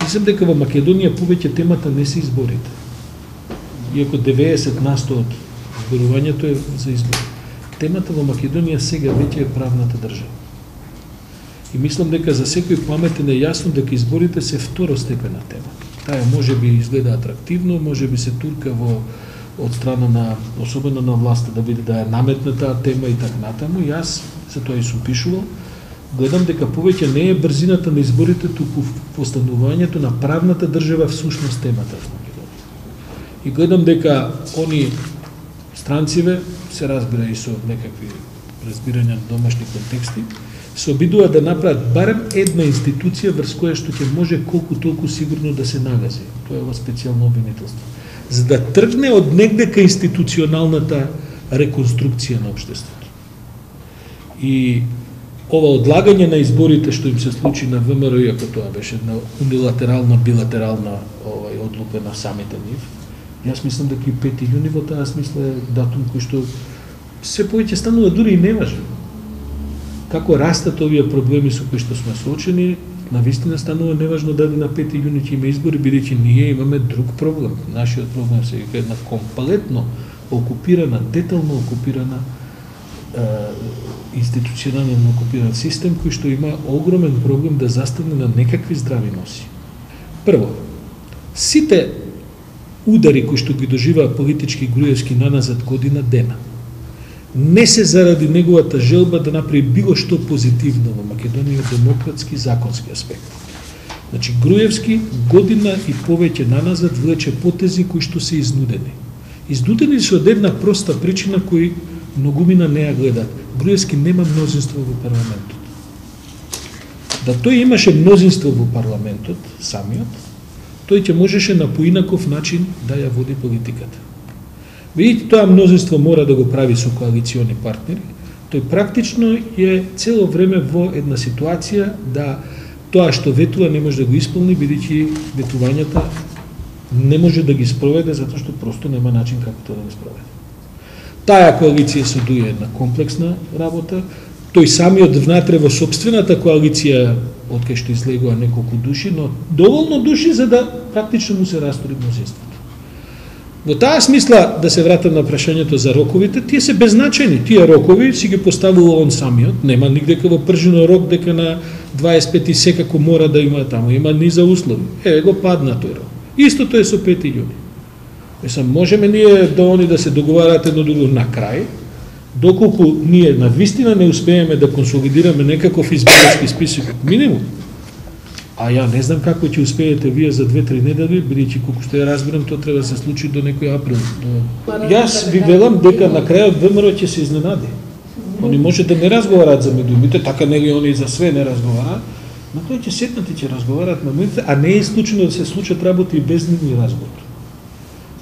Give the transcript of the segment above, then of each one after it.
Мислам дека во Македонија повеќе темата не се изборите. Иако 90% од зборувањето е за избори. Темата во Македонија сега веќе е правната држава. И мислам дека за секој паметен е јасно дека изборите се второстепена тема. Таа може би изгледа атрактивно, може би се турка од страна на, особено на власта, да биде да е наметна таа тема и така натаму. Јас се тоа и сум пишувал. Гледам дека повеќе не е брзината на изборите, туку постанувањето на правната држава всушност темата во Македонија. И гледам дека они странциве, се разбира и со некакви разбирања на домашни контексти, се обидуваат да направат барем една институција врз која што ќе може колку толку сигурно да се нагази. Тоа е во специјално обвинителство. За да тргне од негде кај институционалната реконструкција на општеството. И ова одлагање на изборите што им се случи на ВМРО, иако тоа беше една унилатерална, билатерална одлука на самите нив, јас мислам дека и 5 јуни во таа смисла е датум кој што се повеќе станува дури и неважен. Како растат овие проблеми со кои што сме соочени, навистина станува неважно дали на 5 јуни ќе има избори, бидејќи ние имаме друг проблем. Нашиот проблем се е една комплетно окупирана, детално окупирана институционално окупиран систем кој што има огромен проблем да застане на некакви здрави носи. Прво, сите удари кои што ги доживаа политички Груевски наназад година дена, не се заради неговата желба да направи било што позитивно во Македонија демократски законски аспект. Значи, Груевски година и повеќе наназад влече потези кои што се изнудени. Изнудени се од една проста причина кој многумина не ја гледат. Груевски нема мнозинство во парламентот. Да тој имаше мнозинство во парламентот, самиот, тој ќе можеше на поинаков начин да ја води политиката. Видите, тоа мнозинство мора да го прави со коалициони партнери, тој практично е цело време во една ситуација да тоа што ветува не може да го исполни, бидејќи ветувањата не може да ги спроведе, затоа што просто нема начин како тоа да го спроведе. Таа коалиција се дуе една комплексна работа, тој самиот внатре во собствената коалиција, од кај што излегува неколку души, но доволно души за да практично му се растори мнозинството. Во таа смисла, да се вратам на прашањето за роковите, тие се беззначајни. Тие рокови си ги поставил он самиот, нема нигде во пржено рок дека на 25 секако мора да има таму, има низа услови. Го падна тој рок. Истото е со 5 јуни. Мислам, можеме ние да се договарате едно друго на крај, доколку ние на вистина не успееме да консолидираме некаков изборски список минимум. А ја не знам како ќе успеете вие за 2-3 недели, бидејќи колку што ја разбирам, тоа треба да се случи до некој април. Јас ви велам дека на крајот ВМРО ќе се изненади. Они може да не разговараат за медиумите, така нели они за све не разговараат, но тој ќе седнат и ќе разговараат на медиумите, а не е исклучено да се случат работи и без нивни разговор.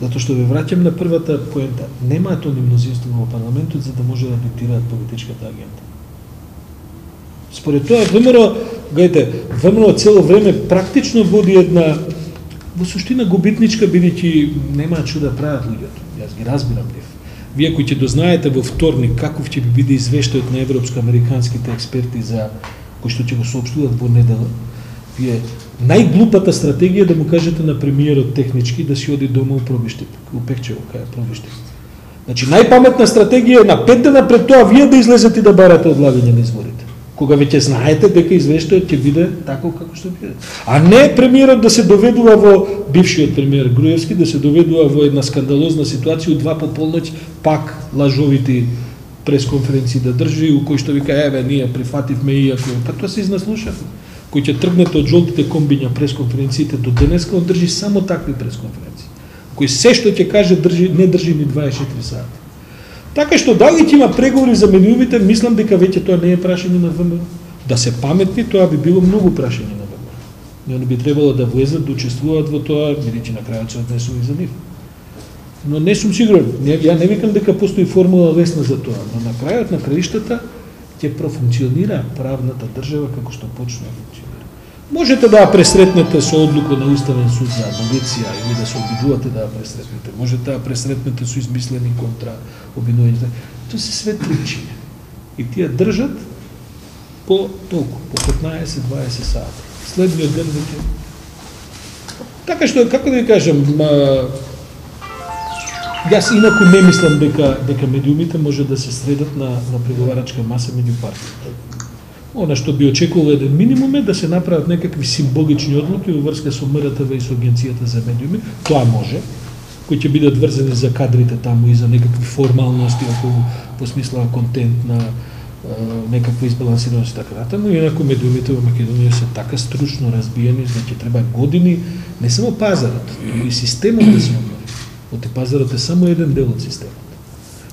Затоа што ве враќам на првата поента. Немаат они мнозинство во парламентот за да може да диктираат политичката агенда. Според тоа ВМРО, гледате, ВМРО цело време практично води една во суштина губитничка, бидејќи немаат што да прават луѓето. Јас ги разбирам нив. Вие кои ќе дознаете во вторник каков ќе биде извештајот на европско-американските експерти за кои што ќе го соопштуваат во недела, вие најглупата стратегија да му кажете на премиерот технички да си оди дома у Пробиште, у Пекчево, кај Пробиште. Значи најпаметна стратегија е на 5 дена пред тоа вие да излезете и да барате одлагање на изборите. Кога веќе знаете дека извештајот ќе биде тако како што биде. А не премиерот да се доведува во, бившиот премиер Груевски, да се доведува во една скандалозна ситуација у 2 по полноќ, пак лажовити пресконференции да држи, у кој што вика, еве, ние прифативме иако, па тоа се изнаслушавме. Кој ќе тргнете од жолтите комбиња пресконференциите до денеска, он држи само такви пресконференции. Кој се што ќе каже не држи ни 24 сати. Така што дали ќе има преговори за медиумите, мислам дека веќе тоа не е прашање на ВМРО. Да се паметни, тоа би било многу прашање на ВМРО. И они би требало да влезат, да учествуваат во тоа, бидејќи на крајот се однесува и за нив. Но не сум сигурен, ја не викам дека постои формула лесна за тоа, но на крајот на краиштата ќе профункционира правната држава како што почне да функционира. Можете да ја пресретнете со одлука на Уставен суд за аболиција или да се обидувате да ја пресретнете. Можете да ја пресретнете со измислени контра обвинувања. Тоа се све причини. И тие држат по толку, по 15-20 сати. Следниот ден веќе Така што, како да ви кажам, јас инаку не мислам дека медиумите може да се средат на преговарачка маса меѓу партиите. Она што би очекувал еден минимум е да се направат некакви символични одлуки во врска со МРТВ и со Агенцијата за медиуми, тоа може, кои ќе бидат врзани за кадрите таму и за некакви формалности околу по смисла контент на некаква избалансираност и така натаму, инаку медиумите во Македонија се така стручно разбиени, значи треба години, не само пазарот, туку и системот да се обнови. Оти пазарот е само еден дел од системот.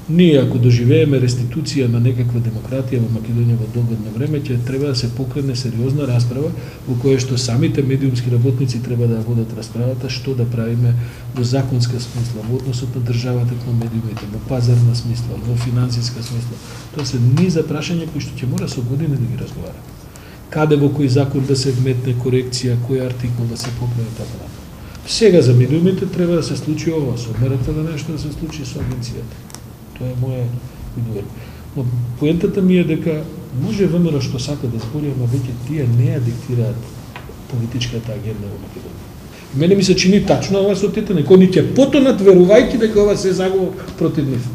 Ние, ако доживееме реституција на некаква демократија во Македонија во догодно време, ќе треба да се покрене сериозна расправа во која што самите медиумски работници треба да водат расправата што да правиме во законска смисла, во односот на државата кон медиумите, во пазарна смисла, во финансиска смисла. Тоа се низа прашања кои што ќе мора со години да ги разговараме. Каде во кој закон да се вметне корекција, кој артикул да се поправи така натаму. Сега за медиумите треба да се случи ова, со МРТВ нешто да се случи со агенцијата. Тоа е моја видување. Но поентата ми е дека може ВМРО што сака да збори, ама веќе тие не ја диктираат политичката агенда во Македонија. Мене ми се чини тачно ова со тете, некои ни ќе потонат верувајќи дека ова се загуба против нив.